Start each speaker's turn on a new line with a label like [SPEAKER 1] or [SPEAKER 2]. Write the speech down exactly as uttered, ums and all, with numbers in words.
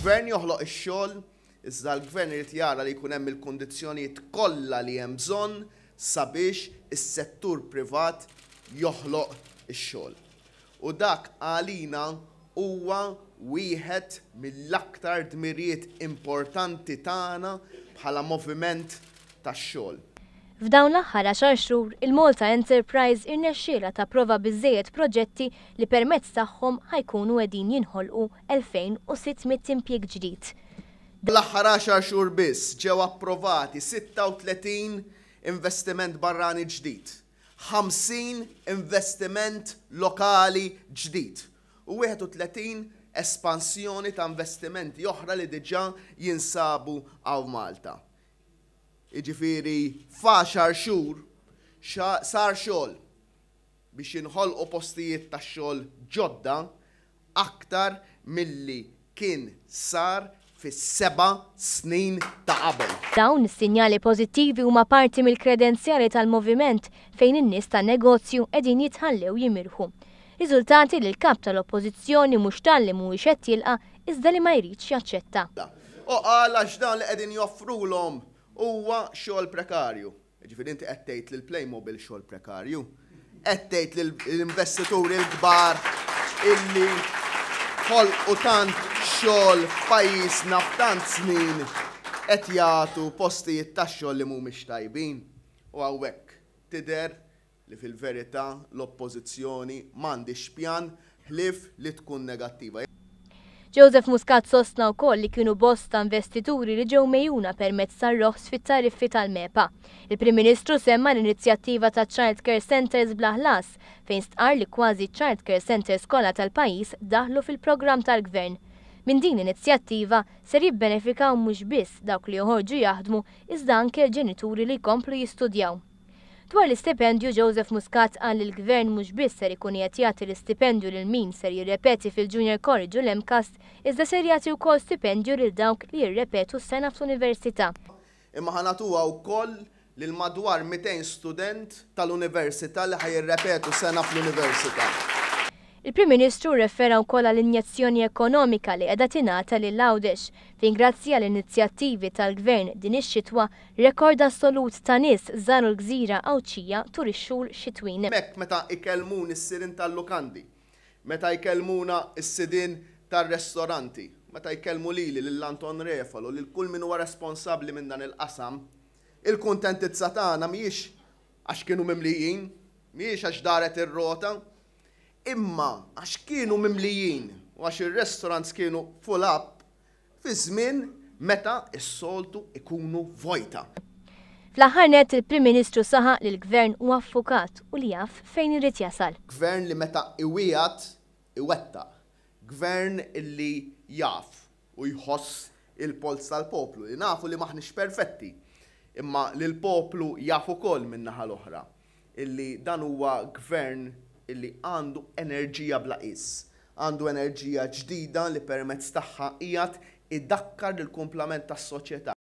[SPEAKER 1] Il-gvern joħloq ix-xogħol, iżda l-gvern irid jara li jkun hemm il-kundizzjonijiet kollha li hemm bżonn sabiex is-settur privat joħloq ix-xogħol. U dak għalina huwa wieħed mill-aktar dmirijiet importanti tagħna bħala moviment tax-xogħol.
[SPEAKER 2] F'dawn l-aħħar għaxar xhur, il-Malta Enterprise irnexxielha tapprova biżejjed proġetti li permezz tagħhom ħa jkunu qegħdin jinħolqu elfejn u sitt mitt impjieg ġdid.
[SPEAKER 1] L-aħħar għaxar xhur biss ġew approvati sitta u tletin investiment barrani ġdid, ħamsin investiment lokali ġdid u wieħed u tletin espansjoni ta' investimenti oħra li diġà jinsabu hawn Malta. Jiġifieri f'għaxar xhur sar xogħol biex jinħolqu postijiet ta' xogħol ġodda aktar milli kien sar fis-seba' snin ta' qabel.
[SPEAKER 2] Dawn is-sinjali pożittivi huma parti mill-kredenzjali tal-moviment fejn in-nies tan-negozju qegħdin jitħallew jimirħu. Riżultati li l-kap tal-Oppożizzjoni mhux talli mhuwiex qed jilqa' iżda li ma jridx jaċċetta.
[SPEAKER 1] U qal għax dan li qegħdin joffrulhom huwa xogħol prekarju. Jiġifieri inti qed tgħid lil Playmobil xogħol prekarju. Qed tgħid lill-investituri l-kbar illi ħolqu tant xogħol f'pajjiżna f'tant snin qed jagħtu postijiet tax-xogħol li mhumiex tajbin. U hawnhekk tidher li fil-verità l-Oppożizzjoni m'għandix pjan ħlief li tkun negattiva.
[SPEAKER 2] Joseph Muscat sostna wkoll li kienu bosta investituri li ġew mejjuna permezz tar-roħs fit-tariffi tal-MEPA. Il-Prim Ministru semma l-inizjattiva ta' Child Care Centers bla ħlas fejn stqarr li kważi Child Care Centers kollha tal-pajjiż daħlu fil-programm tal-Gvern. Minn din l-inizjattiva ser jibbenefikaw mhux biss dawk li joħorġu jaħdmu iżda anke l-ġenituri li jkomplu jistudjaw. Dwar l-istipendju, Joseph Muscat qal li l-Gvern mhux biss ser ikun qed jagħti l-istipendju lil min ser jirrepeti fil-Junior College u l-MCAST, iżda ser jagħti wkoll stipendju lil dawk li jirrepetu s-sena fl-università.
[SPEAKER 1] Imma ħa nagħtuha wkoll lil madwar mitejn student tal-università li ħa jirrepetu sena fl-università.
[SPEAKER 2] Il-Prim Ministru rrefera wkoll għall-injezzjoni ekonomika li qiegħda tingħata lil Għawdex, fejn grazzi għall-inizjattivi tal-Gvern din ix-xitwa rekord assolut ta' nies żaru l-gżira Għawdxija tul ix-xhur xitwin.
[SPEAKER 1] Hemmhekk meta ikellmuni s-sidien tal-lukandi, meta jkellmuna s-sidien tar-restoranti, meta jkellmu lili lil Anton Refalo, lil kull min huwa responsabbli minn dan il-qasam, il-kuntentizza tagħna mhijiex għax kienu mimlijin, mhijiex għax daret ir-rota, imma għax kienu mimlijin u għax ir-restaurants kienu full up fi żmien meta s-soltu ikunu vojta.
[SPEAKER 2] Fl-aħħar nett il-Prim Ministru saħaq li l-Gvern huwa affukat u li jaf fejn irid jasal.
[SPEAKER 1] Gvern li meta iwiegħed iwettaq. Gvern illi jaf u jħoss il-polz tal-poplu, li nafu li maħniex perfetti, imma li l-poplu jaf ukoll min-naħa l-oħra, illi dan huwa gvern illi għandu enerġija bla qies, għandu enerġija ġdida li permezz tagħha qiegħed idakkar lill-kumplament tas-soċjetà.